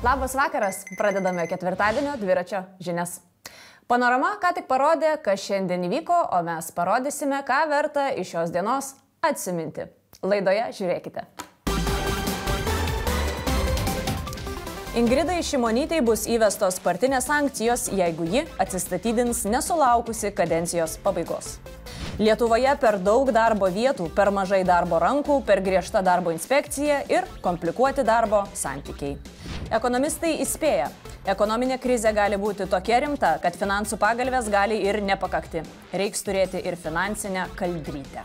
Labas vakaras, pradedame ketvirtadienio dviračio žinias. Panorama ką tik parodė, kas šiandien įvyko, o mes parodysime, ką verta iš šios dienos atsiminti. Laidoje žiūrėkite. Ingridai Šimonytei bus įvestos partinės sankcijos, jeigu ji atsistatydins nesulaukusi kadencijos pabaigos. Lietuvoje per daug darbo vietų, per mažai darbo rankų, per griežta darbo inspekcija ir komplikuoti darbo santykiai. Ekonomistai įspėja, ekonominė krizė gali būti tokia rimta, kad finansų pagalvės gali ir nepakakti. Reiks turėti ir finansinę kaldrytę.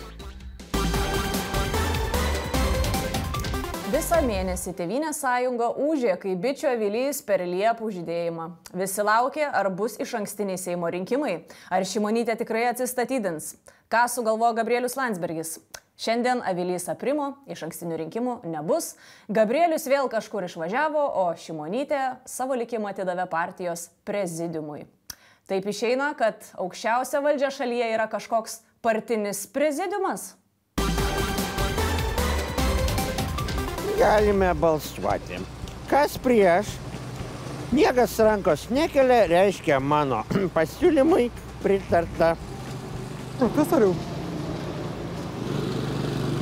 Visą mėnesį Tėvynės sąjunga ūžė, kai bičio avilys per liepų žydėjimą. Visi laukė, ar bus išankstiniai Seimo rinkimai, ar Šimonytė tikrai atsistatydins. Ką sugalvojo Gabrielius Landsbergis? Šiandien avilys aprimo, išankstinių rinkimų nebus, Gabrielius vėl kažkur išvažiavo, o Šimonytė savo likimą atidavė partijos prezidiumui. Taip išeina, kad aukščiausia valdžia šalyje yra kažkoks partinis prezidiumas. Galime balsuoti. Kas prieš? Niekas rankos nekelia, reiškia mano pasiūlymui pritarta. Profesoriau.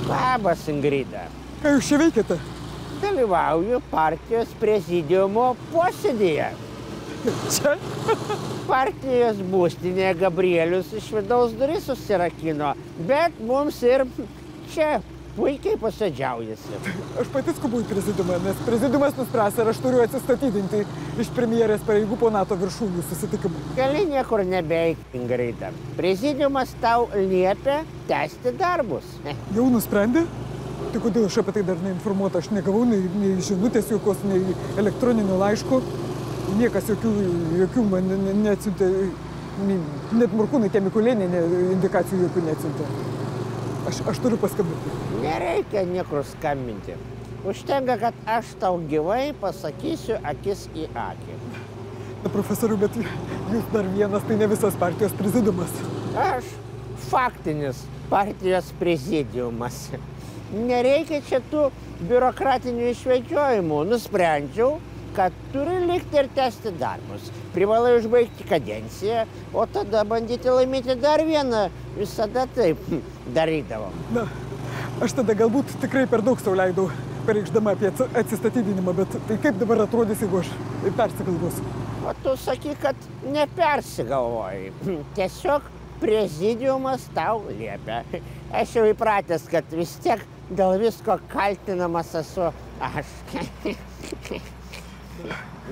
Labas, Ingrida. Ką jūs čia veikiate? Dalyvauju partijos prezidiumo posėdėje. Čia? Partijos būstinėje Gabrielius iš vidaus duris susirakino, bet mums ir čia puikiai posėdžiaujasi. Aš pati skubu į prezidiumą, nes prezidiumas nuspręs, ar aš turiu atsistatydinti iš premjerės pareigų po NATO viršūnių susitikimų. Gali niekur nebeik, Ingrida. Prezidiumas tau liepia tęsti darbus. Jau nusprendė? Tai kodėl aš apie tai dar neinformuota? Aš negavau nei žinutės jokios, nei elektroninių laiškų. Niekas jokių man neatsiuntė, net Morkūnai tie Mikulėnė indikacijų jokių neatsiuntė. Aš turiu paskambinti. Nereikia niekur skambinti. Užtenka, kad aš tau gyvai pasakysiu akis į akį. Na, profesoriu, bet jūs dar vienas, tai ne visas partijos prezidiumas. Aš faktinis partijos prezidiumas. Nereikia čia tų biurokratinių išvedžiojimų. Nusprendžiau, kad turi likti ir tęsti darbus. Privalai užbaigti kadenciją, o tada bandyti laimėti dar vieną. Visada taip darydavo. Na, aš tada galbūt tikrai per daug sau leidau, pareikšdama apie atsistatydinimą, bet tai kaip dabar atrodys, jeigu aš persigalvosiu? O tu sakyk, kad nepersigalvoji. Tiesiog prezidiumas tau liepia. Aš jau įpratęs, kad vis tiek dėl visko kaltinamas esu aš.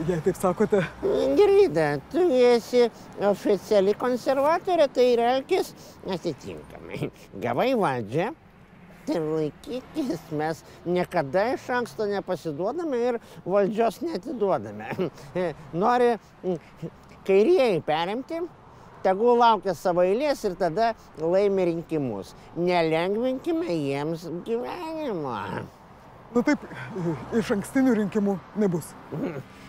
Jei taip sakote. Ingrida, tu esi oficiali konservatorė, tai ir elkis atitinkamai. Gavai valdžią, tai laikykis, mes niekada iš anksto nepasiduodame ir valdžios neatiduodame. Nori kairieji perimti, tegul laukia savo eilės ir tada laimi rinkimus. Nelengvinkime jiems gyvenimo. Na taip, išankstinių rinkimų nebus.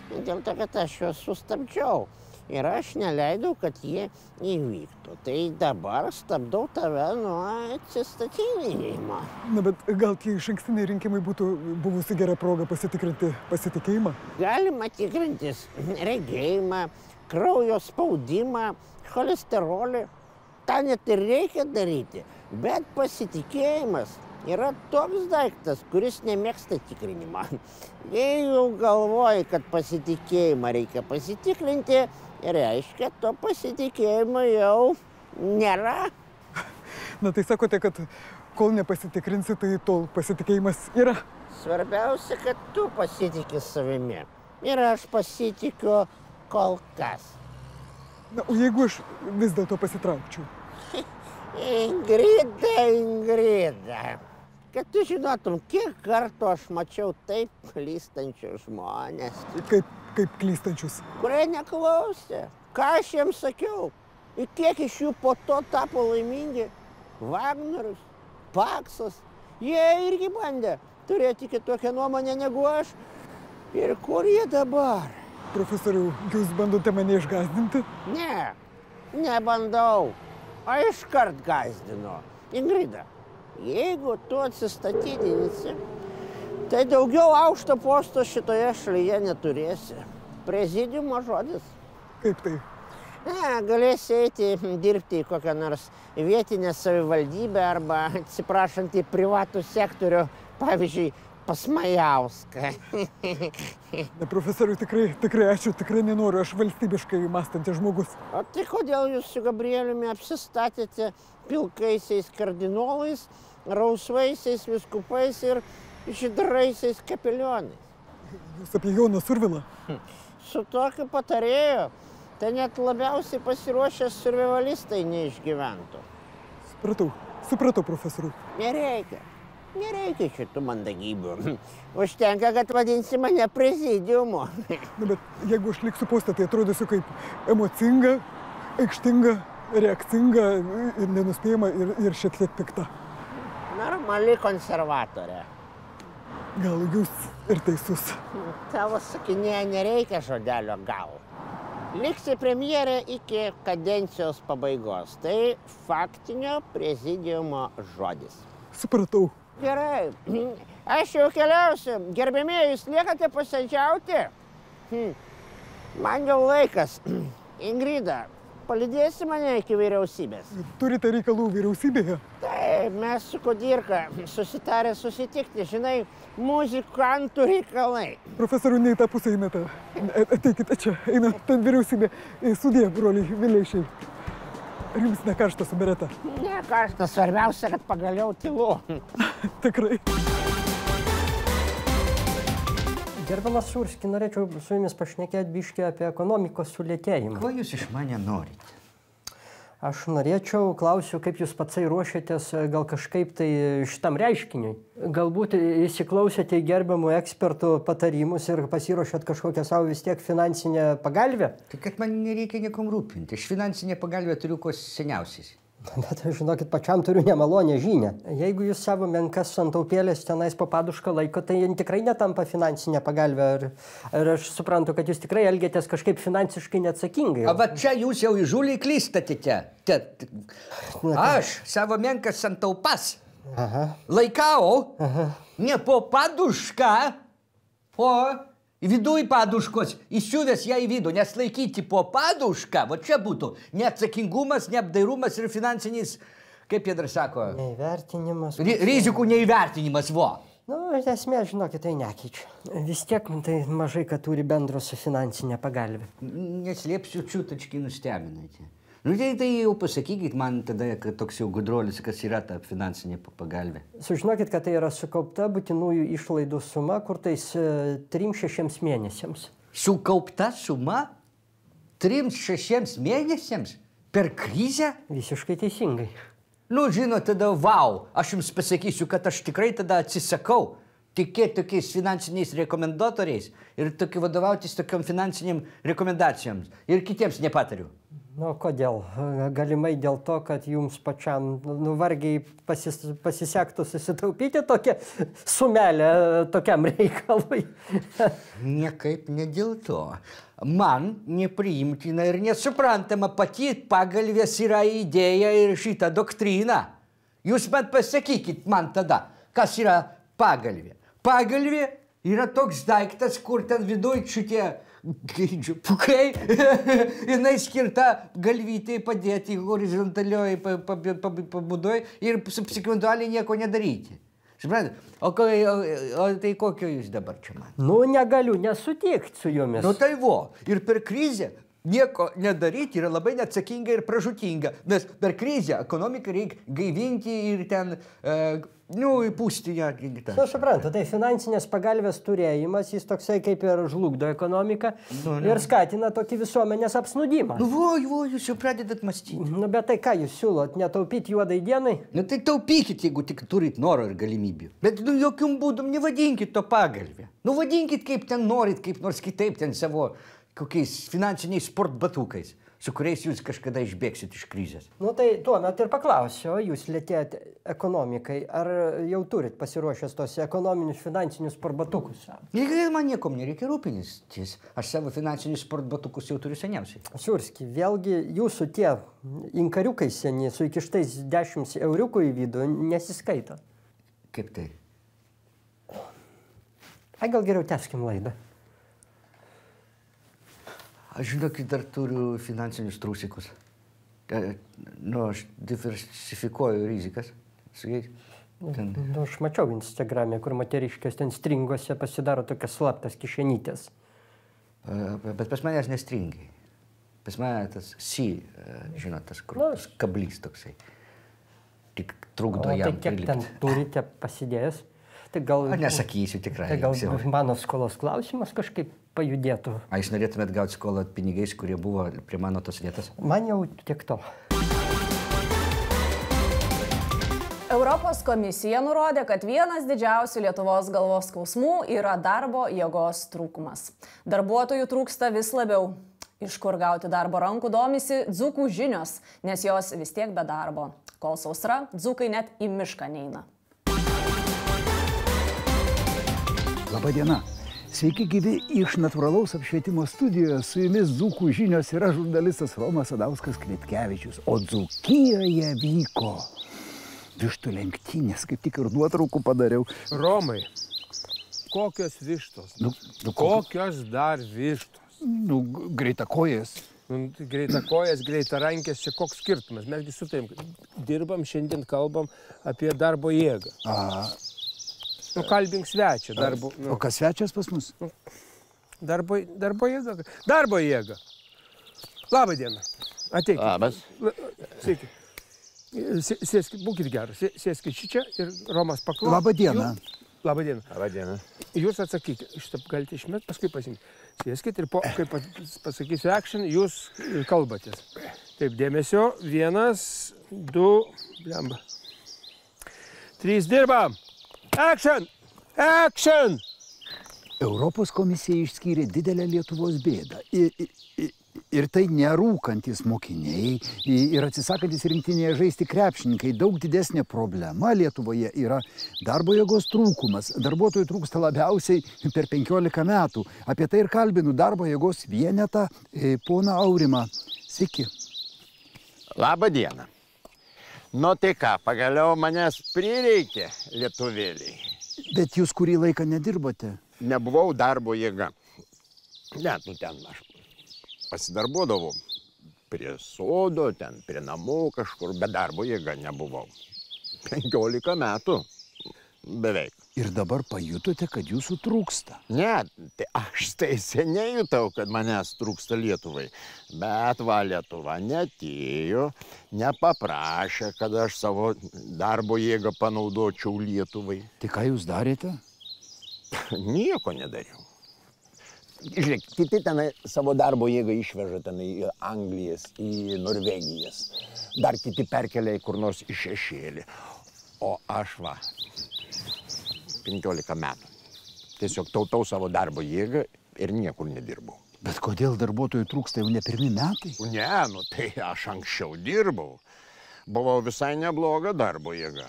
Dėl to, kad aš juos sustabdžiau ir aš neleidau, kad jie įvyktų. Tai dabar stabdau tave nuo atsistatydinimo. Na, bet gal tie išankstiniai rinkimai būtų buvusi gera proga pasitikrinti pasitikėjimą? Galima tikrintis regėjimą, kraujo spaudimą, cholesterolį. Ta net ir reikia daryti, bet pasitikėjimas yra toks daiktas, kuris nemėgsta tikrinimą. Jei jau galvoji, kad pasitikėjimą reikia pasitikrinti, reiškia, to pasitikėjimo jau nėra. Na tai sakote, kad kol nepasitikrinsi, tai tol pasitikėjimas yra. Svarbiausia, kad tu pasitiki savimi. Ir aš pasitikiu kol kas. Na, o jeigu aš vis dėlto pasitraukčiau? Ingrida. Kad tu žinotum, kiek kartų aš mačiau taip klystančius žmonės. Kaip klystančius? Kurie neklausė. Ką aš jiems sakiau? Ir kiek iš jų po to tapo laimingi? Vagnorius, Paksas. Jie irgi bandė turėti kitokią nuomonę negu aš. Ir kur jie dabar? Profesoriau, jūs bandote mane išgąsdinti? Ne, nebandau. O iškart gąsdinu. Ingrida, jeigu tu atsistatydinsi, tai daugiau aukšto posto šitoje šalyje neturėsi. Prezidiumo žodis. Kaip tai? Ne, galėsi eiti dirbti į kokią nors vietinę savivaldybę arba, atsiprašant, į privatų sektorių, pavyzdžiui, pas Majauską. Ne, profesoriu, tikrai ačiū, tikrai nenoriu, aš valstybiškai mąstantis žmogus. O tai kodėl jūs su Gabrieliumi apsistatėte pilkaisiais kardinolais, rausvaisiais viskupais ir žydraisiais kapelionais? Jūs apie Joną Survilą? Su tokiu patarėju, tai net labiausiai pasiruošę survivalistai neišgyventų. Supratau, profesoriu. Nereikia šitų mandagybių. Užtenka, kad vadinsi mane prezidiumu. Na, bet jeigu aš liksiu postą, tai atrodysiu kaip emocinga, aikštinga, reakcinga ir nenuspėjama ir šiek tiek pikta. Normali konservatorė. Gal jūs ir teisus. Tavo sakinėje nereikia žodelio gal. Liksi premjerė iki kadencijos pabaigos. Tai faktinio prezidiumo žodis. Supratau. Gerai, aš jau keliausiu. Gerbėmieji, jūs liekate posėdžiauti? Man jau laikas. Ingrida, palydėsi mane iki vyriausybės? Turite reikalų vyriausybėje? Taip, mes su Kudirka susitarę susitikti, žinai, muzikantų reikalai. Profesoriu, ne į tą pusę einate. Ateikite čia, eina ten vyriausybė. Sudie, broliai, Vileišiai. Ar jums ne karšta su bereta? Ne karšta, svarbiausia, kad pagaliau tylu. Tikrai. Gerbiamas Šurski, norėčiau su jumis pašnekėti biškį apie ekonomikos sulėtėjimą. Ko jūs iš mane norite? Aš norėčiau, klausiu, kaip jūs patsai ruošiatės gal kažkaip tai šitam reiškiniui. Galbūt įsiklausėte į gerbiamų ekspertų patarimus ir pasiruošėt kažkokią savo vis tiek finansinę pagalbę? Tai kad man nereikia niekam rūpinti. Aš finansinę pagalbę turiu kuo seniausiais. Bet, žinokit, pačiam turiu nemalonę žinią. Jeigu jūs savo menkas santaupėlės tenais po padušką laiko, tai tikrai netampa finansinė pagalbė. Ar aš suprantu, kad jūs tikrai elgiatės kažkaip finansiškai neatsakingai. O va čia jūs jau įžūliai klystatite. Aš savo menkas santaupas laikau ne po padušką, o viduj paduškos, įsiuvęs ją į vidų, nes laikyti po padušką, va čia būtų neatsakingumas, neapdairumas ir finansinis, kaip jie dar sako, neįvertinimas. Rizikų neįvertinimas, vo. Nu, esmė, žinokit, tai nekeičia. Vis tiek tai mažai, kad turi bendro su finansinė pagalbė. Neslėpsiu, čiutački nustebinate. Nu, tai jau pasakykit man tada, kad toks jau gudrolis, kas yra ta finansinė pagalbė. Sužinokit, kad tai yra sukaupta būtinųjų išlaidų suma, kur tais 3-6 mėnesiams. Sukaupta suma 3-6 mėnesiams? Per krizę? Visiškai teisingai. Nu, žinot, tada vau, aš jums pasakysiu, kad aš tikrai tada atsisakau tikėti tokiais finansiniais rekomendatoriais ir vadovautis tokiom finansiniam rekomendacijoms ir kitiems nepatariu. Nu, kodėl? Galimai dėl to, kad jums pačiam vargiai pasisektų susitaupyti tokią sumelę tokiam reikalui. Niekaip ne dėl to. Man nepriimtina ir nesuprantama pati pagalvės yra idėja ir šitą doktriną. Jūs man pasakykit man tada, kas yra pagalvė. Pagalvė yra toks daiktas, kur ten viduj šitie pukai, jinai skirta galvytei padėti horizontalioj pabudoj ir sekventualiai nieko nedaryti. Suprantate? O tai kokio jūs dabar čia man? Nu, negaliu nesutikti su jumis. Nu tai vo, ir per krizę nieko nedaryti yra labai neatsakinga ir pražūtinga, nes per krizę ekonomiką reikia gaivinti ir ten, įpūsti ją. Nu, suprantu, tai finansinės pagalbės turėjimas, jis toksai kaip ir žlugdo ekonomiką ir skatina tokį visuomenės apsnudimą. Nu, jūs jau pradedat mąstyti. Nu, bet tai ką jūs siūlot, netaupyti juodai dienai? Nu, tai taupykit, jeigu tik turit noro ir galimybių. Bet jokium būdum nevadinkit to pagalbę. Nu, vadinkit kaip ten norit, kaip nors kitaip ten savo kokiais finansiniais sportbatukais. su kuriais jūs kažkada išbėgsit iš krizės. Nu tai tuomet ir paklausiu, o jūs lėtėjat ekonomikai, ar jau turit pasiruošęs tos ekonominius finansinius sportbatukus? Man niekom nereikia rūpintis. Aš savo finansinius sportbatukus jau turiu seniausiai. Siurski, vėlgi jūsų tie inkariukai seni su įkištais 10 euriukų į vidų nesiskaito. Kaip tai? Ai, gal geriau tęskim laidą. Aš žinokit, dar turiu finansinius trūsikus. Aš diversifikuoju rizikas. Aš mačiau Instagram'e, kur moteriškės ten stringuose pasidaro tokias slaptas kišenytės. Bet pas manęs nestringiai. Pas mane tas žinot, tas kablys toksai. Tik trukdo jam prilipti. Tai kiek ten turite pasidėjęs? Tai gal... Nesakysiu tikrai. Tai gal mano skolos klausimas kažkaip pajudėtų. A jūs norėtumėt gauti skolą pinigais, kurie buvo prie mano tos vietos? Man jau tiek to. Europos komisija nurodė, kad vienas didžiausių Lietuvos galvos skausmų yra darbo jėgos trūkumas. Darbuotojų trūksta vis labiau. Iš kur gauti darbo rankų domisi dzūkų žinios, nes jos vis tiek be darbo. Kol sausra, dzūkai net į mišką neina. Labadiena. Sveiki gyvi iš natūralaus apšvietimo studijoje. Su jumis dzūkų žinios yra žurnalistas Romas Adauskas Kvitkevičius. O Dzūkijoje vyko vištų lenktynės, kaip tik ir nuotraukų padariau. Romai, kokios vištos? Kokios dar vištos? Greitakojas. Greitakojas, greitarankės, čia koks skirtumas? Mesgi su tavim dirbam, šiandien kalbam apie darbo jėgą. Kalbink svečią. O kas svečias pas mus? Darbo jėga. Darbo jėga. Labą dieną. Ateikit. Labas. Sveiki. Sėskit, būkit geras. Sėskit čia ir Romas paklaus. Labą dieną. Labą dieną. Labą dieną. Jūs atsakykit. Šitą galite išmest, paskui pasimti. Sėskit ir kai pasakysiu action, jūs kalbatės. Taip, dėmesio. 1, 2, 3, dirbam. Action! Action! Europos komisija išskyrė didelę Lietuvos bėdą. Ir tai nerūkantis mokiniai ir atsisakantis rinktinėje žaisti krepšininkai. Daug didesnė problema Lietuvoje yra darbo jėgos trūkumas. Darbuotojų trūksta labiausiai per 15 metų. Apie tai ir kalbinu darbo jėgos vienetą poną Aurimą. Sveiki. Labą dieną. Nu tai ką, pagaliau manęs prireikė lietuvėliai. Bet jūs kurį laiką nedirbote? Nebuvau darbo jėga. Net, ten aš pasidarbuodavau prie sodo, ten prie namų kažkur, bet darbo jėga nebuvau. 15 metų beveik. Ir dabar pajutote, kad jūsų trūksta? Ne, tai aš tai seniai jutau, kad manęs trūksta Lietuvai. Bet va, Lietuva neatėjo, nepaprašė, kad aš savo darbo jėgą panaudočiau Lietuvai. Tai ką jūs darėte? Nieko nedariau. Žiūrėk, kiti tenai savo darbo jėgą išveža tenai į Anglijas, į Norvegijas. Dar kiti perkelia į kur nors į šešėlį. O aš va, 15 metų. Tiesiog tautau savo darbo jėgą ir niekur nedirbau. Bet kodėl darbuotojų trūksta jau ne pirmi metai? Ne, tai aš anksčiau dirbau. Buvau visai nebloga darbo jėga.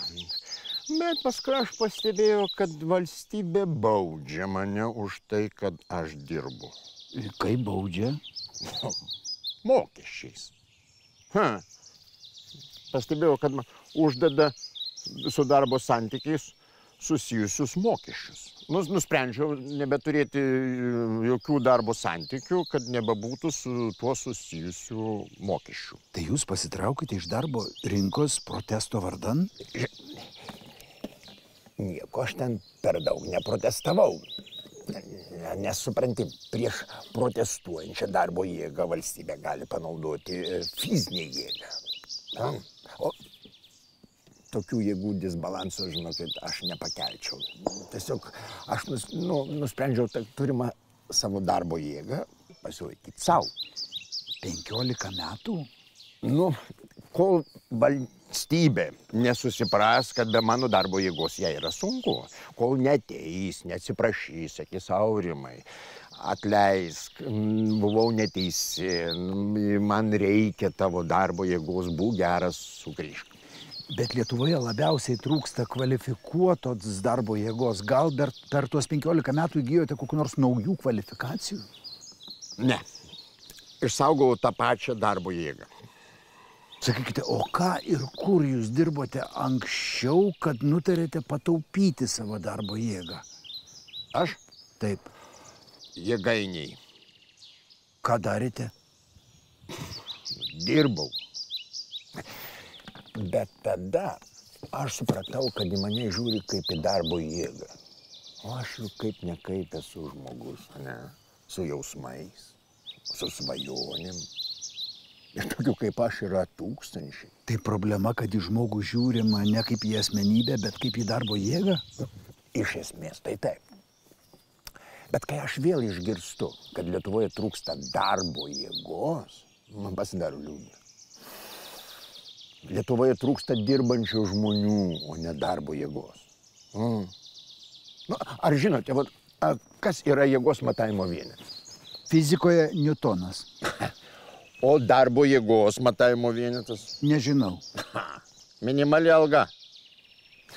Bet paskui aš pastebėjau, kad valstybė baudžia mane už tai, kad aš dirbu. Kaip baudžia? Mokesčiais. Pastebėjau, kad man uždeda su darbo santykiais susijusius mokesčius. Nusprendžiau nebeturėti jokių darbo santykių, kad nebebūtų su tuo susijusių mokesčių. Tai jūs pasitraukite iš darbo rinkos protesto vardan? Nieko aš ten per daug neprotestavau. Nes supranti, prieš protestuojančią darbo jėgą valstybė gali panaudoti fizinę jėgą. O tokių jėgų disbalanso, žinokit, aš nepakelčiau. Tiesiog aš nusprendžiau turimą savo darbo jėgą pasilaikyti savo. 15 metų? Kol valstybė nesusipras, kad be mano darbo jėgos jai yra sunku. Kol neateis, neatsiprašys, sakys, Aurimai, Atleisk, buvau neteisi, man reikia tavo darbo jėgos, būk geras, sugrįžk. Bet Lietuvoje labiausiai trūksta kvalifikuotos darbo jėgos. Gal per tuos 15 metų įgijote kokių nors naujų kvalifikacijų? Ne, išsaugau tą pačią darbo jėgą. Sakykite, o ką ir kur jūs dirbote anksčiau, kad nutarėte pataupyti savo darbo jėgą? Aš? Taip. Jėgainiai. Ką darėte? Dirbau. Bet tada aš supratau, kad į mane žiūri kaip į darbo jėgą. O aš jau kaip nekaip esu žmogus, ne? Su jausmais, su svajonėm. Ir tokių kaip aš yra tūkstančiai. Tai problema, kad į žmogų žiūrima ne kaip į asmenybę, bet kaip į darbo jėgą? Iš esmės, tai taip. Bet kai aš vėl išgirstu, kad Lietuvoje trūksta darbo jėgos, man pasidaro liūdna. Lietuvoje trūksta dirbančių žmonių, o ne darbo jėgos. Nu, ar žinote, kas yra jėgos matavimo vienetas? Fizikoje Niutonas. O darbo jėgos matavimo vienetas? Nežinau. Minimali alga.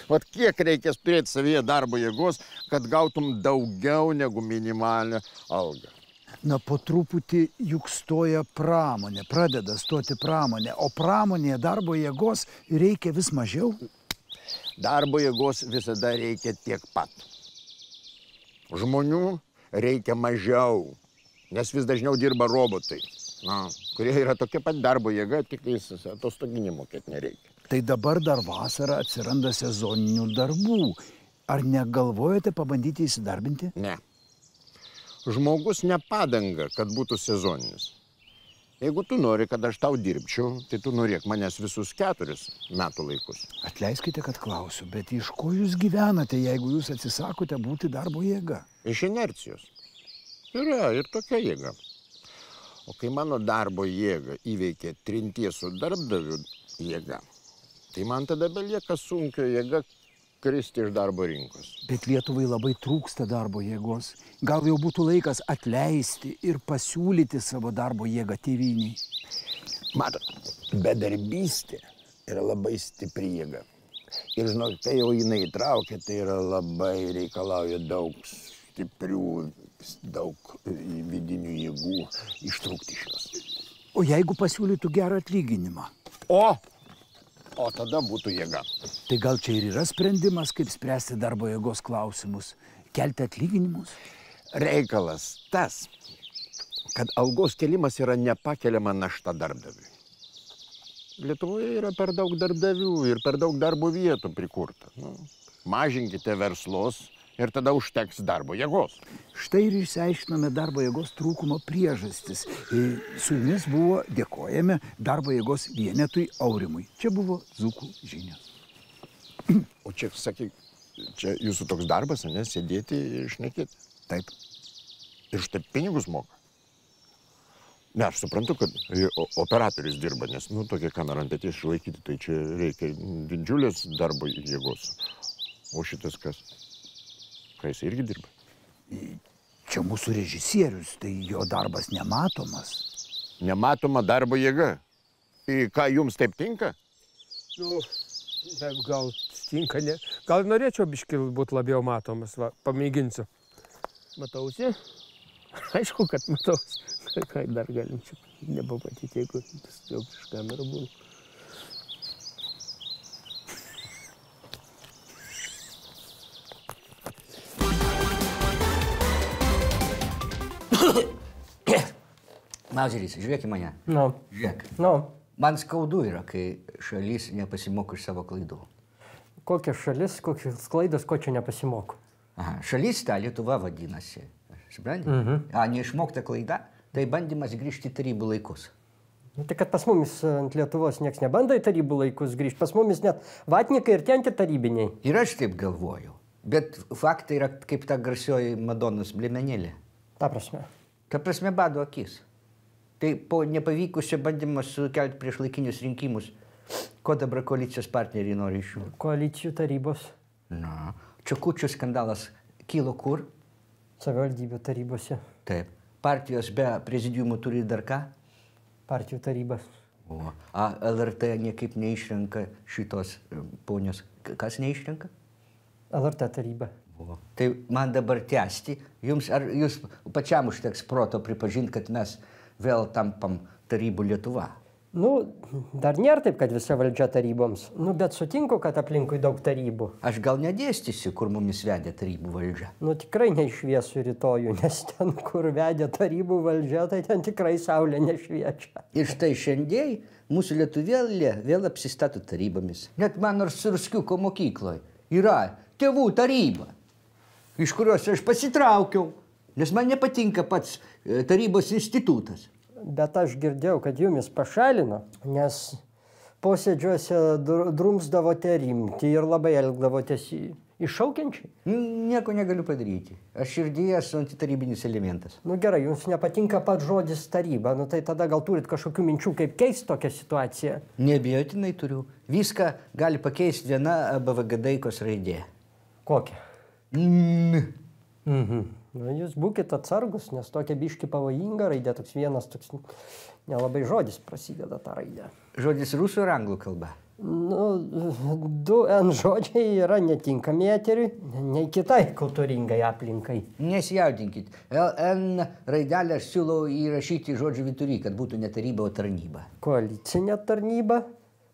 Vat kiek reikės turėti savyje darbo jėgos, kad gautum daugiau negu minimalią algą? Na, po truputį juk stoja pramonė, pradeda stoti pramonė, o pramonėje darbo jėgos reikia vis mažiau. Darbo jėgos visada reikia tiek pat. Žmonių reikia mažiau, nes vis dažniau dirba robotai, kurie yra tokia pat darbo jėga, tik atostoginį mokėti nereikia. Tai dabar dar vasarą atsiranda sezoninių darbų. Ar negalvojate pabandyti įsidarbinti? Ne. Žmogus ne padanga, kad būtų sezoninis. Jeigu tu nori, kad aš tau dirbčiau, tai tu norėk manęs visus 4 metų laikus. Atleiskite, kad klausiu, bet iš ko jūs gyvenate, jeigu jūs atsisakote būti darbo jėga? Iš inercijos. Yra ir tokia jėga. O kai mano darbo jėga įveikia trinties su darbdaviu jėga, tai man tada belieka sunkio jėga kristi iš darbo rinkos. Bet Lietuvai labai trūksta darbo jėgos. Gal jau būtų laikas atleisti ir pasiūlyti savo darbo jėgą tėvynei? Matot, bedarbystė yra labai stipri jėga. Ir žinok, kai jau jinai įtraukia, tai yra labai reikalauja daug stiprių, daug vidinių jėgų ištrūkti iš jos. O jeigu pasiūlytų gerą atlyginimą? O tada būtų jėga. Tai gal čia ir yra sprendimas, kaip spręsti darbo jėgos klausimus? Kelti atlyginimus? Reikalas tas, kad algos kelimas yra nepakeliama našta darbdaviui. Lietuvoje yra per daug darbdavių ir per daug darbo vietų prikurta. Mažinkite verslus ir tada užteks darbo jėgos. Štai ir išsiaiškinome darbo jėgos trūkumo priežastis. Su jumis buvo, dėkojame, darbo jėgos vienetui Aurimui. Čia buvo Dzūkų žinios. O čia, sakyk, čia jūsų toks darbas, ne, sėdėti ir šnekėti? Taip. Ir štai pinigus moka? Ne, aš suprantu, kad operatorius dirba, nes, tokia kamera ant peties išlaikyti, tai čia reikia didžiulės darbo jėgos. O šitas kas? Ką jis irgi dirba? Čia mūsų režisierius, tai jo darbas nematomas. Nematoma darbo jėga. Ką jums taip tinka? Gal tinka, ne? Gal norėčiau biškį būti labiau matomas, pamėginsiu. Matausi? Aišku, kad matausi. Ką dar galim čia nepamatyti, jeigu jau prieš kamerą būna. Mauzeris, žiūrėk į mane. Žiūrėk. Man skaudu yra, kai šalis nepasimoko iš savo klaidų. Kokia šalis, kokios klaidos, ko čia nepasimoko? Šalis ta Lietuva vadinasi. Supranti? Neišmokta klaida, tai bandymas grįžti į tarybų laikus. Tai kad pas mumis ant Lietuvos nieks nebando į tarybų laikus grįžti, pas mumis net vatnikai ir ten tarybiniai. Ir aš taip galvoju, bet faktai yra kaip ta garsioji Madonos blėmenėlė. Ta prasme? Ta prasme bado akis. Tai po nepavykusio bandymo sukelti prieš laikinius rinkimus, ko dabar koalicijos partneriai nori iš jų? Koalicijų tarybos. Čekučių skandalas kilo kur? Savivaldybių tarybose. Taip. Partijos be prezidiumų turi dar ką? Partijų tarybas. O LRT niekaip neišrenka šitos ponios. Kas neišrenka? LRT taryba. O. Tai man dabar tęsti. Ar jūs pačiam užteks proto pripažinti, kad mes vėl tampam tarybų Lietuva? Dar nėra taip, kad visa valdžia taryboms. Bet sutinku, kad aplinkui daug tarybų. Aš gal nedėstysiu, kur mumis vedė tarybų valdžia. Tikrai neišviesiu rytojų, nes ten, kur vedė tarybų valdžia, tai ten tikrai saulė nešviečia. Ir štai šiandien mūsų lietuvėlė vėl apsistato tarybomis. Net mano Surskiuko mokykloje yra tėvų taryba, iš kurios aš pasitraukiau, nes man nepatinka pats tarybos institutas. Bet aš girdėjau, kad jumis pašalino, nes posėdžiuose drumsdavote rimti ir labai elgdavotės iššaukiančiai. Nieko negaliu padaryti. Aš širdyje esu antitarybinis elementas. Gerai, jums nepatinka pats žodis taryba, tai tada gal turit kažkokių minčių, kaip keisti tokią situaciją? Neabejotinai turiu. Viską gali pakeisti viena BVG-daikos raidė. Kokia? Jūs būkite atsargus, nes tokia biški pavojinga raidė, toks vienas, toks nelabai žodis prasideda tą raidę. Žodis rusų ir anglų kalba? 2N žodžiai yra netinkami eteriui, nei kitai kultūringai aplinkai. Nesijaudinkit. LN raidelę aš siūlau įrašyti žodžių vidury, kad būtų ne taryba, o tarnyba. Koalicinė tarnyba,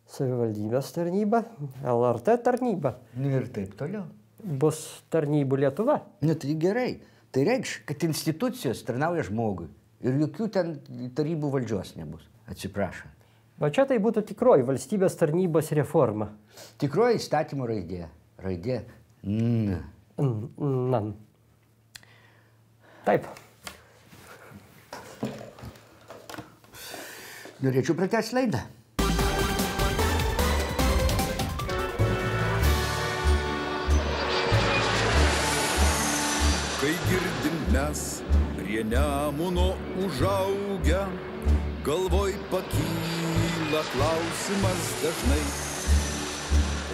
savivaldybės tarnyba, LRT tarnyba. Ir taip toliau. Bus tarnybų Lietuva. Tai gerai. Tai reikš, kad institucijos tarnauja žmogui ir jokių ten tarybų valdžios nebus. Atsiprašant. Va čia tai būtų tikroji valstybės tarnybos reforma. Tikroji įstatymo raidė. Raidė N. Nan. Taip. Norėčiau pratęsti laidą. Kai girdim mes prie Nemuno užaugę, galvoj pakyla klausimas dažnai.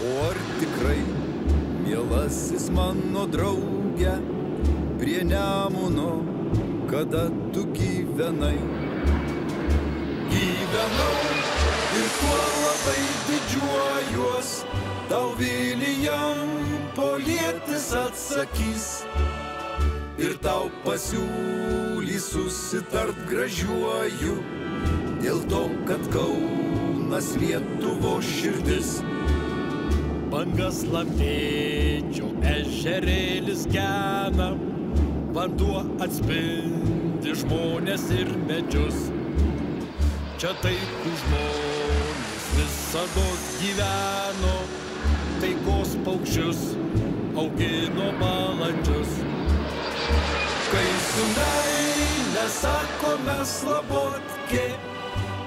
O ar tikrai, mielasis mano drauge, prie Nemuno, kada tu gyvenai? Gyvenau ir tuo labai didžiuojuos, tau Vilijampolietis atsakys. Ir tau pasiūlys susitart gražiuoju, dėl to, kad Kaunas Lietuvos širdis. Bangas lapėdžio ežerėlis gena, vanduo atspindi žmonės ir medžius. Čia taikų žmonės visados gyveno, taikos paukščius augino balandžius. Kai su meile sakome slabotke,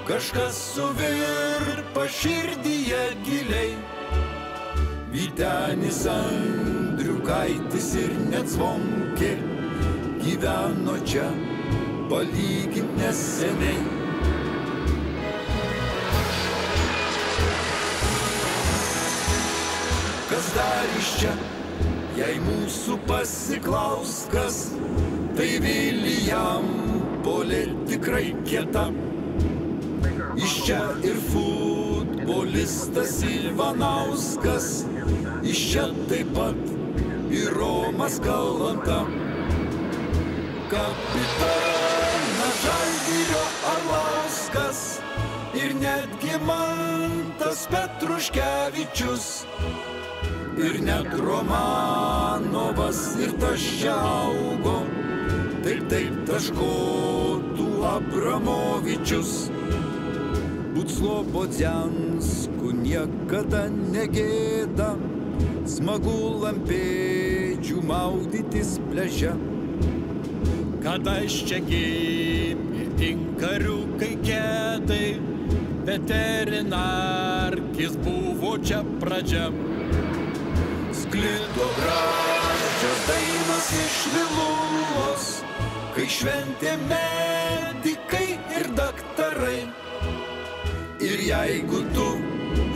kažkas suvirpa širdyje giliai. Vytenis Andriukaitis ir net Zvonkė gyveno čia palygint neseniai. Kas dar iš čia, jei mūsų pasiklaus kas, tai Vilijampolė tikrai kieta. Iš čia ir futbolistas Ivanauskas, iš čia taip pat ir Romas Kalanta. Kapitonas Žalgirio Arlauskas ir netgi Mantas Petruškevičius. Ir net Romanovas ir tas čia augo, taip taškotų Abramovičius. Būt Slobodziansku niekada negėda, smagu lampėdžių maudytis pliaže. Kada iš čia gimė inkariukai kedai, veterinarkis buvo čia pradžia. Sklido gražios dainos iš Viluvos, kai šventė medikai ir daktarai. Ir jeigu tu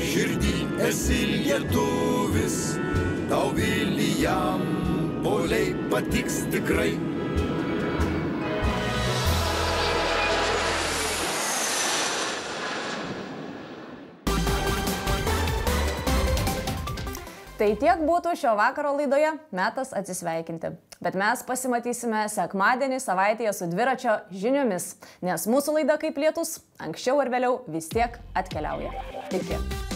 širdį esi lietuvis, tau Vilijampolė patiks tikrai. Tai tiek būtų šio vakaro laidoje, metas atsisveikinti. Bet mes pasimatysime sekmadienį savaitėje su dviračio žiniomis, nes mūsų laida kaip lietus anksčiau ar vėliau vis tiek atkeliauja. Iki.